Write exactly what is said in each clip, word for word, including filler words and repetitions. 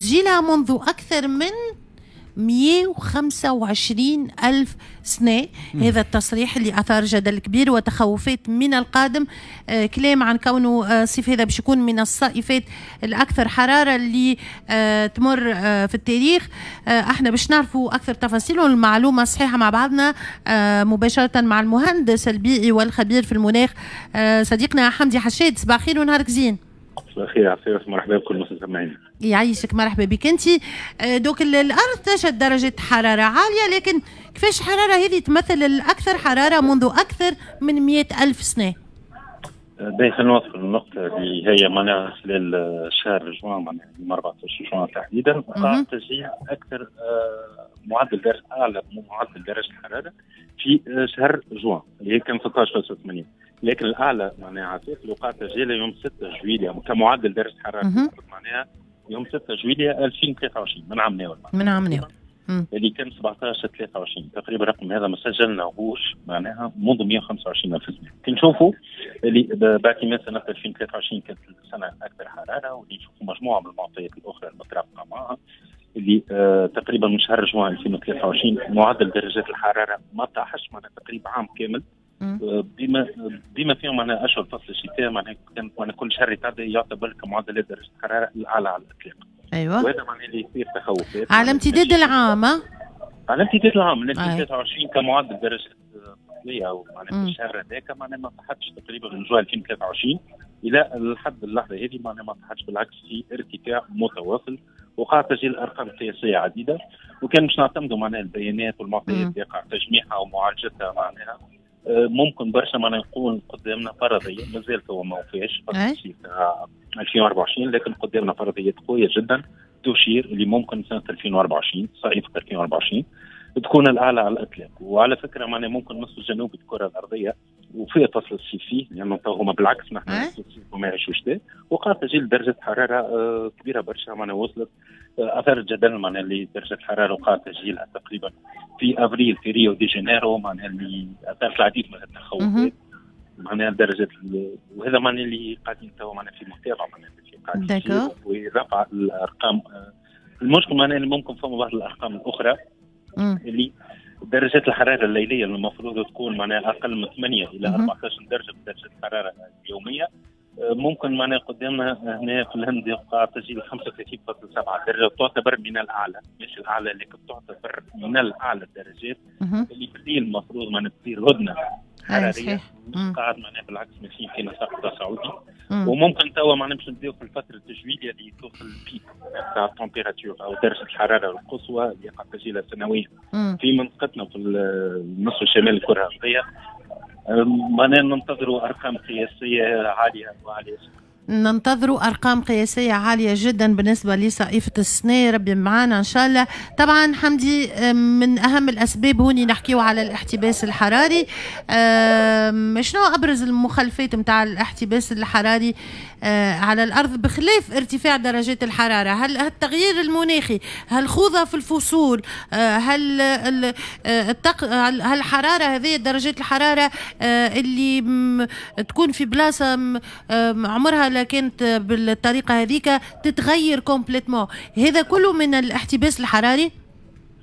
تسجيلها منذ أكثر من مئة وخمسة وعشرين ألف سنة. مم. هذا التصريح اللي أثار جدل كبير وتخوفات من القادم. آه كلام عن كونه آه الصيف هذا باش يكون من الصيفات الأكثر حرارة اللي آه تمر آه في التاريخ. آه احنا باش نعرفوا أكثر تفاصيل والمعلومة الصحيحة مع بعضنا آه مباشرة مع المهندس البيئي والخبير في المناخ آه صديقنا حمدي حشاد. صباح الخير ونهارك زين. صباح الخير عفيف، مرحبا بكل المستمعين. يعيشك، مرحبا بك انت. donc الارض تشهد درجه حرارة عالية، لكن كيفاش الحرارة هذه تمثل الاكثر حرارة منذ اكثر من مئة ألف سنة؟ باهي، خلينا نوصل للنقطة اللي هي معناها خلال شهر جوان، معناها يوم أربعة عشر جوان تحديدا، وقع تسجيل اكثر معدل درجه اعلى معدل درجه الحرارة في شهر جوان اللي هي كان ستة عشر فاصلة ثمانية، لكن الاعلى معناها عفيف اللي وقع تسجيله يوم ستة جويلية كمعدل درجه حرارة، معناها يوم ستة جويلية ألفين وثلاثة وعشرين من عام ناول. من عام ناول. اللي كان سبعة عشر ثلاثة وعشرين تقريبا. الرقم هذا ما سجلناهوش معناها منذ مئة وخمسة وعشرين الف سنة. كي نشوفوا اللي باعتماد سنة ألفين وثلاثة وعشرين كانت السنة الاكثر حراره، واللي نشوفوا مجموعة من المعطيات الاخرى المترافقه معها، اللي آه تقريبا من شهر جوان ألفين وثلاثة وعشرين معدل درجات الحرارة ما طاحش، معناها تقريبا عام كامل آه، بما بما فيهم معناها اشهر فصل الشتاء، معناها كان معناها كل شهر يتعدى يعتبر كمعدلات درجه الحرارة الاعلى على الاطلاق. ايوه وهذا معناه اللي يصير تخوفات. على امتداد العام. على امتداد العام من ألفين وثلاثة وعشرين كمعدل درجه فصليه او معناها في الشهر هذاك معناها ما طاحتش تقريبا من جوان ألفين وثلاثة وعشرين الى لحد اللحظة هذه، معناها ما طاحتش، بالعكس في ارتفاع متواصل، وقع تسجيل ارقام قياسية عديده. وكان باش نعتمدوا معناها البيانات والمعطيات اللي يقع تجميعها ومعالجتها، معناها آه، ممكن برشا معناها نقول قدامنا فرضية، مازال هو ما وفاش فصل ألفين وأربعة وعشرين، لكن قدامنا فرضيات قوية جدا تشير اللي ممكن سنة ألفين وأربعة وعشرين، صيف ألفين وأربعة وعشرين تكون الاعلى على الاطلاق. وعلى فكرة معناها ممكن نصف الجنوبي الكره الارضية وفي فصل الصيف فيه، لانه يعني هما بالعكس نحن فصل الصيف وما يعيشوا شتاء، وقع تسجيل درجه حرارة آه، كبيرة برشا، معناها وصلت آه، اثار الجدل، معناها اللي درجه الحرارة وقع تسجيلها تقريبا في افريل في ريو دي جانيرو، معناها اللي اثارت العديد من التخوفات، معناها درجه. وهذا معناها اللي قاعدين تو معناها في متابعه، معناها في قاعدين ورفع الارقام. آه، المشكل معناها اللي ممكن فما بعض الارقام الاخرى اللي درجات الحرارة الليلية المفروض تكون معناها اقل من ثمانية الى أربعة عشر درجه بدرجة الحرارة اليوميه، آه، ممكن معناها قدامنا هنا في الهند يقع تسجيل خمسة وثلاثين فاصلة سبعة درجه، تعتبر من الاعلى، مش الاعلى لكن تعتبر من الاعلى الدرجات، اللي في الليل المفروض معناها تصير هدنة حراريه، قاعد معناها بالعكس ماشيين في نسق تصاعدي. وممكن توا معناها باش نبداو في الفترة التجويليه اللي توصل ال pic تاع ال température او درجه الحرارة القصوى اللي يقع تسجيلها سنويا في منطقتنا في النصف الشمالي الكره الارضيه، معناها ننتظروا ارقام قياسية عالية وعاليه. ننتظر أرقام قياسية عالية جدا بالنسبة لصائفة السنة، ربي معانا إن شاء الله. طبعا حمدي، من أهم الأسباب هوني نحكيو على الاحتباس الحراري. شنو أبرز المخلفات متاع الاحتباس الحراري آه، على الأرض بخلاف ارتفاع درجات الحرارة؟ هل التغيير المناخي، هل خوضة في الفصول، آه، هل التق... هل الحرارة هذه، درجات الحرارة آه، اللي تكون في بلاصة عمرها لا كانت بالطريقة هذيك تتغير complètement، هذا كله من الاحتباس الحراري؟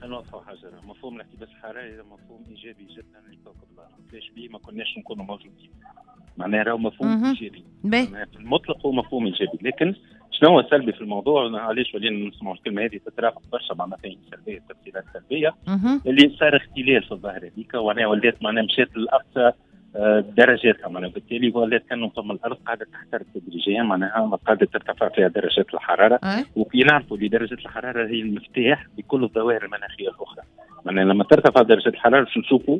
خلينا نوضحوا حاجه، مفهوم الاحتباس الحراري مفهوم ايجابي جدا لكوكب الارض، ليش بيه ما كناش نكونوا موجودين. معناها راهو مفهوم ايجابي في المطلق، هو مفهوم ايجابي، لكن شنو هو السلبي في الموضوع؟ علاش ولينا نسمعوا الكلمة هذه تترافق برشا مع مفاهيم سلبيه، تفسيرات سلبيه، اللي صار اختلال في الظاهرة هذيك، ومعناها ولات معناها مشات للاقصى آه، درجاتها، معناها بالتالي ولات كانه ثم الارض قاعدة تحترق تدريجيا، معناها قاعدة ترتفع فيها درجات الحراره. وكي نعرفوا اللي درجه الحرارة هي المفتاح لكل الظواهر المناخية الاخرى، معناها لما ترتفع درجه الحرارة باش نشوفوا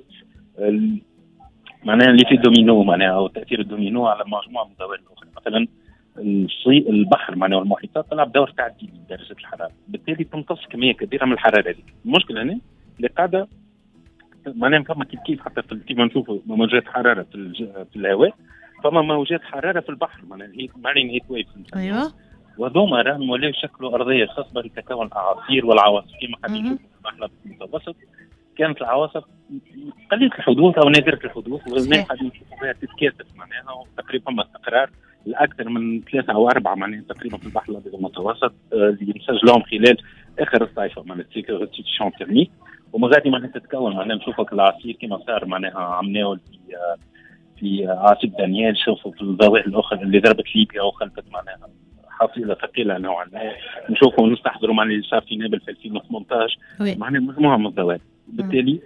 معناها l'effet domino، معناها او تاثير الدومينو على مجموعة من الظواهر الاخرى. مثلا البحر معناها المحيطات تلعب دور تعديل درجه الحراره، بالتالي تمتص كمية كبيرة من الحرارة هذيك. المشكلة هنا اللي قاعدة معناها فما كيف كيف حتى في كيف نشوفوا موجات حرارة في, في الهواء، فما موجات حرارة في البحر، معناها marine heat waves. ايوه وهذوما راهم ولاو يشكلوا ارضية خصبة لتكون الاعاصير والعواصف، كما قاعدين نشوفوا في البحر المتوسط كانت العواصف قليله الحدوث او نادرة الحدوث، والناس قاعدين نشوفوا فيها تتكاثف، معناها تقريبا فما استقرار. الاكثر من ثلاثة او اربعة معناها تقريبا في البحر الابيض المتوسط اللي مسجلهم خلال اخر الصيفه معناها restitution thermique، ومن غادي معناها تتكون معناها نشوفك الاعاصير كما صار معناها عملناه في في عاصفة دانيال، شوفوا في الظواهر الاخرى اللي ضربت ليبيا وخلفت معناها حصيله ثقيلة نوعا ما، نشوفوا ونستحضروا معناها اللي صار في نابل في ألفين وثمانطاش، معناها مجموعة من الظواهر. بالتالي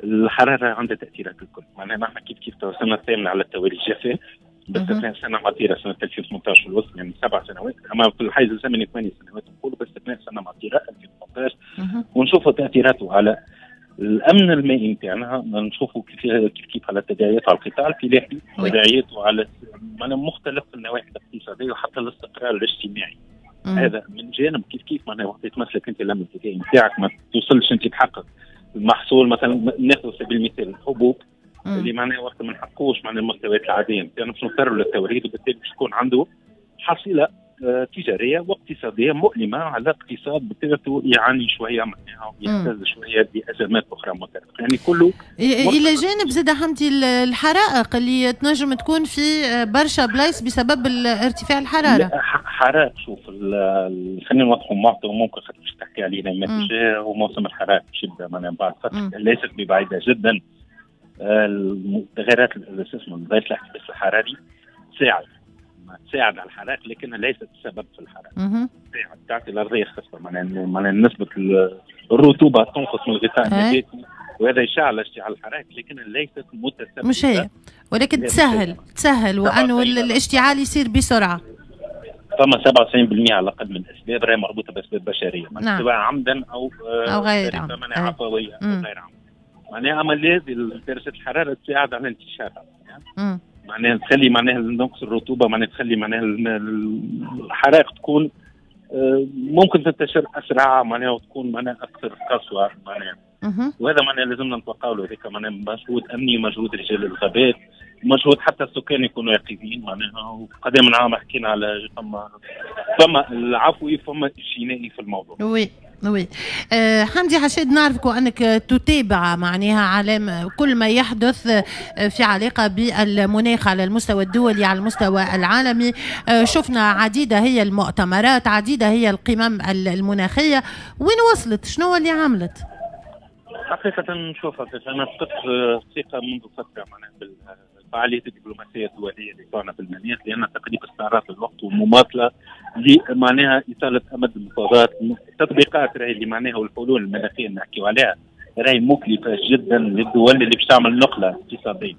الحرارة عندها تاثيرات الكل، معناها نحن كيف كيف السنة الثامنة على التوالي الجفاف باستثناء سنة مطيره سنة ألفين وثمانطاش في الوسط، يعني سبع سنوات، اما في الحيز الزمني ثمانية سنوات نقولوا باستثناء سنة مطيره ألفين وثمانطاش، ونشوفوا تاثيراته على الامن المائي نتاعنا، نشوفوا كيف كيف كيف على تداعياته على القطاع الفلاحي، تداعياته على مختلف النواحي الاقتصادية وحتى الاستقرار الاجتماعي. مم. هذا من جانب كيف كيف معناها وقت تمسلك انت الامن الغذائي نتاعك ما توصلش انت تحقق المحصول، مثلا ناخذ سبيل المثال الحبوب اللي معناها وقت ما نحققوش معناها المستويات العادية نتاعنا باش نضطروا للتوريد، وبالتالي باش يكون عنده حصيله تجارية واقتصادية مؤلمة على اقتصاد بطبيعته يعاني شوية معناها ويهتز شوية بازمات اخرى مترافقه، يعني كله الى جانب زاد حمدي الحرائق اللي تنجم تكون في برشا بلايص بسبب ارتفاع الحرارة. حرائق شوف خلينا نوضحوا معطى وممكن خاطر باش تحكي علينا ما وموسم الحرائق باش يبدا معناها بعد فترة ليست ببعيده جدا. التغيرات الغاز الاحتباس الحراري تساعد تساعد على الحرائق لكنها ليست السبب في الحرائق. تساعد تعطي الارضية خصبة معناها معناها نسبه الرطوبة تنقص من الغطاء النباتي وهذا يشعل اشتعال الحرائق لكنها ليست متسببه، مش هي، ولكن تسهل تسهل وانه الاشتعال يصير بسرعة. فما سبعة وتسعين بالمئة على الاقل من الاسباب راهي مربوطة باسباب بشرية، نعم. سواء عمدا او او غير عمدا، عفوية او غير عمدا. معناها اما لازم درجه الحرارة تساعد على انتشارها، معناها تخلي معناها نقص الرطوبة، معناها تخلي معناها الحرائق تكون ممكن تنتشر اسرع، معناها وتكون معناها اكثر قسوة معناها. وهذا معناها لازمنا نتوقعوا له، هذاك معناها مجهود امني، مجهود رجال الغابات، مجهود حتى السكان يكونوا يقظين معناها. وقدام العام حكينا على فما فما العفوي فما الجنائي في الموضوع. oui oui أه حمدي حشاد، نعرفك وانك تتابع معناها على كل ما يحدث في علاقة بالمناخ على المستوى الدولي على المستوى العالمي. أه شفنا عديدة هي المؤتمرات، عديدة هي القمم المناخية، وين وصلت؟ شنو اللي عملت؟ حقيقة نشوفها انا فقدت الثقة منذ فترة معناها بالفعاليات الدبلوماسية الدولية اللي صارنا في المناخ، لان تقريبا استعراض الوقت ومماطله لمعناها اطاله امد المفاوضات، التطبيقات راهي اللي معناها والحلول المناخية اللي نحكيو عليها راهي مكلفة جدا للدول اللي باش تعمل نقله اقتصادية.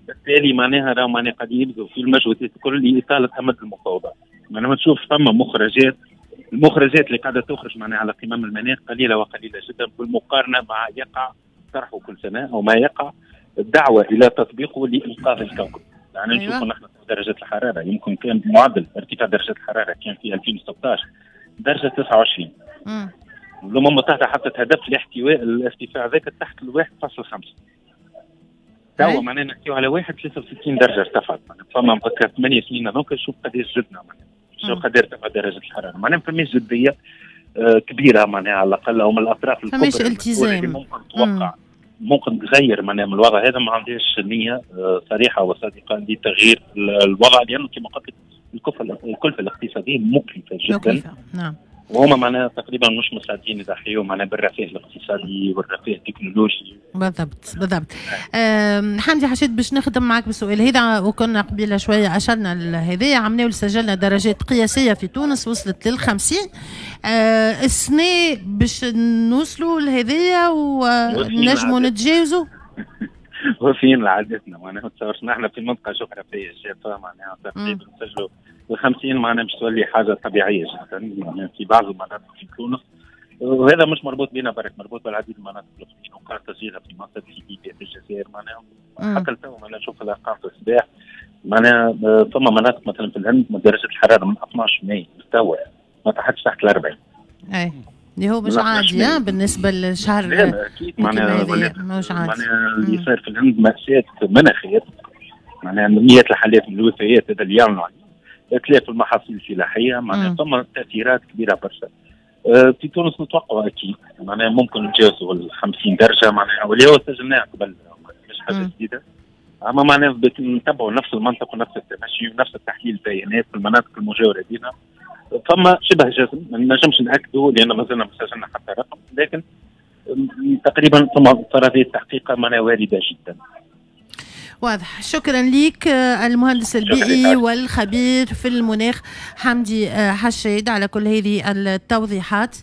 بالتالي معناها راهو معناها قاعدين يبذلوا في المجهودات الكل لاطاله امد المفاوضات. معناها تشوف فما مخرجات، المخرجات اللي قاعدة تخرج معناها على قمم المناخ قليله وقليله جدا بالمقارنة مع يقع طرحه كل سنة او ما يقع الدعوة الى تطبيقه لانقاذ الكوكب. يعني أيوة. نشوفوا نحن درجه الحرارة يمكن كان معدل ارتفاع درجه الحرارة كان في ألفين وستطاش درجه تسعة وعشرين. الامم المتحدة حطت هدف لاحتواء الارتفاع ذاك تحت ال واحد فاصلة خمسة. توا معناها نحكيو على واحد فاصلة ثلاثة وستين درجه ارتفعت، فما ثمانية سنين هذوك شوف قداش زدنا معناها شو قد ارتفع درجه الحرارة، معناها ما فماش جدية كبيرة معناها على الاقل او من الاطراف الكبرى فماش التزام اللي ممكن توقع ممكن تغير معناها من الوضع هذا، ما عندهاش نيه صريحه وصادقة لتغيير الوضع، لانه كما قلت لك الكلفة الاقتصادية مكلفة جدا. مكلفة. نعم. وهما معناها تقريبا مش مستعدين يضحيوا معناها بالرفاه الاقتصادي والرفاه التكنولوجي. بالضبط بالضبط. حمدي حشيد، باش نخدم معك بالسؤال هذا، وكنا قبيلة شوية اشرنا لهذا، عملنا سجلنا درجات قياسية في تونس وصلت للخمسين. أه السنة باش نوصلوا لهذايا ونجموا نتجاوزوا؟ وفين لعادتنا معناها ما تصورش نحن في منطقة جغرافية شافه معناها تقريبا نسجلوا الخمسين معناها باش تولي حاجة طبيعية جدا معناها في بعض المناطق في تونس، وهذا مش مربوط بنا برك، مربوط بالعديد من المناطق الاخرين، وقع تسجيلها في مصر، في ليبيا، في الجزائر معناها حتى لتو معناها نشوف الارقام في الصباح معناها ثم مناطق مثلا في الهند درجه الحرارة من اثناش ماي لتوا ما تحتش تحت ال أربعين. اي اللي هو مش عادي بالنسبة للشهر. لا اكيد معناها مش عادي معناها اللي صاير في الهند مأساة مناخيه، معناها مئات الحالات من الوفيات هذا اللي يعلنوا عليه، اتلاف المحاصيل الفلاحية، معناها ثم تاثيرات كبيرة برشا. أه في تونس نتوقع اكيد معناها ممكن نتجاوزوا ال خمسين درجه معناها، واللي هو سجلناها قبل مش حاجة جديدة. اما معناها نتبعوا نفس المنطق ونفس التمشي ونفس التحليل البيانات في المناطق المجاورة لنا. فما شبه جزم ما نجمش ناكدوا لان مازلنا ما سجلنا حتى رقم، لكن تقريبا ثم فرضية التحقيق معناها وارده جدا. واضح. شكرا لك المهندس البيئي والخبير في المناخ حمدي حشاد على كل هذه التوضيحات.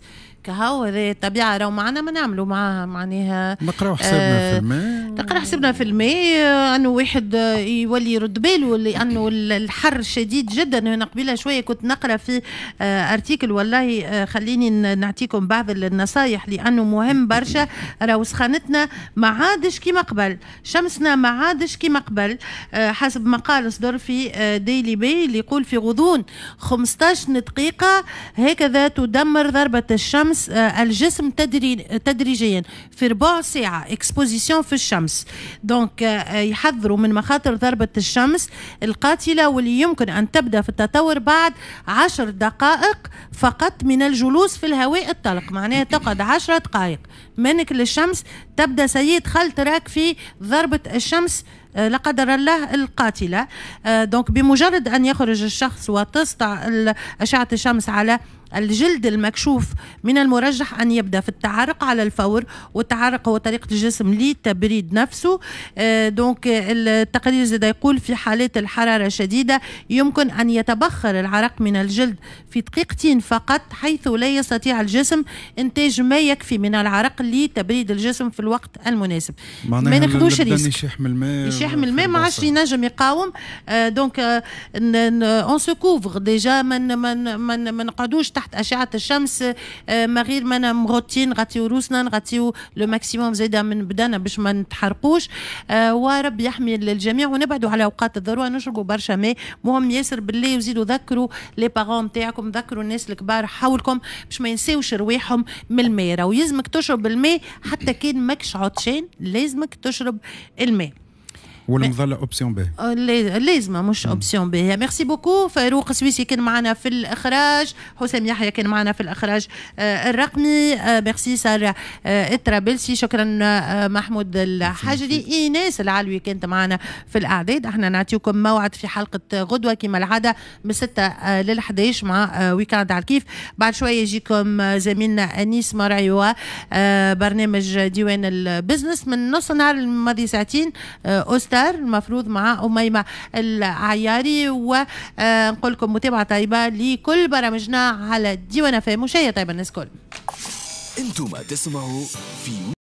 كهو هذه الطبيعة راهو معنا ما نعملوا معاها، معناها نقراو حسابنا في الماء، نقرا حسابنا في الماء، انه واحد يولي يرد باله لانه الحر شديد جدا. انا قبيلة شوية كنت نقرا في article، والله خليني نعطيكم بعض النصايح لانه مهم برشا. راهو سخانتنا ما عادش كيما قبل، شمسنا ما عادش كيما قبل، حسب مقال صدر في ديلي بي اللي يقول في غضون خمسطاش دقيقة هكذا تدمر ضربه الشمس الجسم تدري تدريجيا في ربع ساعة exposition في الشمس. donc يحذروا من مخاطر ضربة الشمس القاتلة واللي يمكن أن تبدأ في التطور بعد عشر دقائق فقط من الجلوس في الهواء الطلق. معناها تقعد عشر دقائق منك للشمس تبدأ سيد خلت راك في ضربة الشمس لا قدر الله القاتلة. donc بمجرد أن يخرج الشخص وتسطع أشعة الشمس على الجلد المكشوف من المرجح أن يبدأ في التعرق على الفور، والتعرق هو طريقة الجسم لتبريد نفسه. donc التقرير زاد يقول في حالات الحرارة الشديدة يمكن أن يتبخر العرق من الجلد في دقيقتين فقط، حيث لا يستطيع الجسم إنتاج ما يكفي من العرق لتبريد الجسم في الوقت المناسب. ما ناخذوش risque، يشيح من الماء، يشيح من الماء ما عادش ينجم يقاوم. donc on se couvre déjà، من من ما نقعدوش تحت أشعة الشمس ما غير ما مغطين، نغطيو روسنا، نغطيو le maximum زاده من بدنا باش ما نتحرقوش. وربي يحمي الجميع ونبعدوا على اوقات الذروة، نشربوا برشا ماء، مهم ياسر بالله. وزيدوا ذكروا les parents نتاعكم، ذكروا الناس الكبار حولكم باش ما ينساوش رواحهم من الماء. راهو يلزمك تشرب الماء حتى كان ماكش عطشان، لازمك تشرب الماء. والمظله option باهيه، لازمه مش option باهيه. merci beaucoup فاروق سويسي كان معنا في الاخراج، حسام يحيى كان معنا في الاخراج الرقمي، ميرسي ساره الترابلسي، شكرا محمود الحجري، ايناس العلوي كانت معنا في الاعداد. احنا نعطيكم موعد في حلقة غدوه كما العادة من ستة لل أحد عشر مع week-end على الكيف. بعد شوية يجيكم زميلنا انيس مرعي برنامج ديوان البزنس من نص نهار الماضي ساعتين اوستر المفروض مع أميمة العياري. ونقول لكم متابعة طيبة لكل برامجنا على ديوان فام. وشهية طيبة الناس كل. انتم تسمعوا في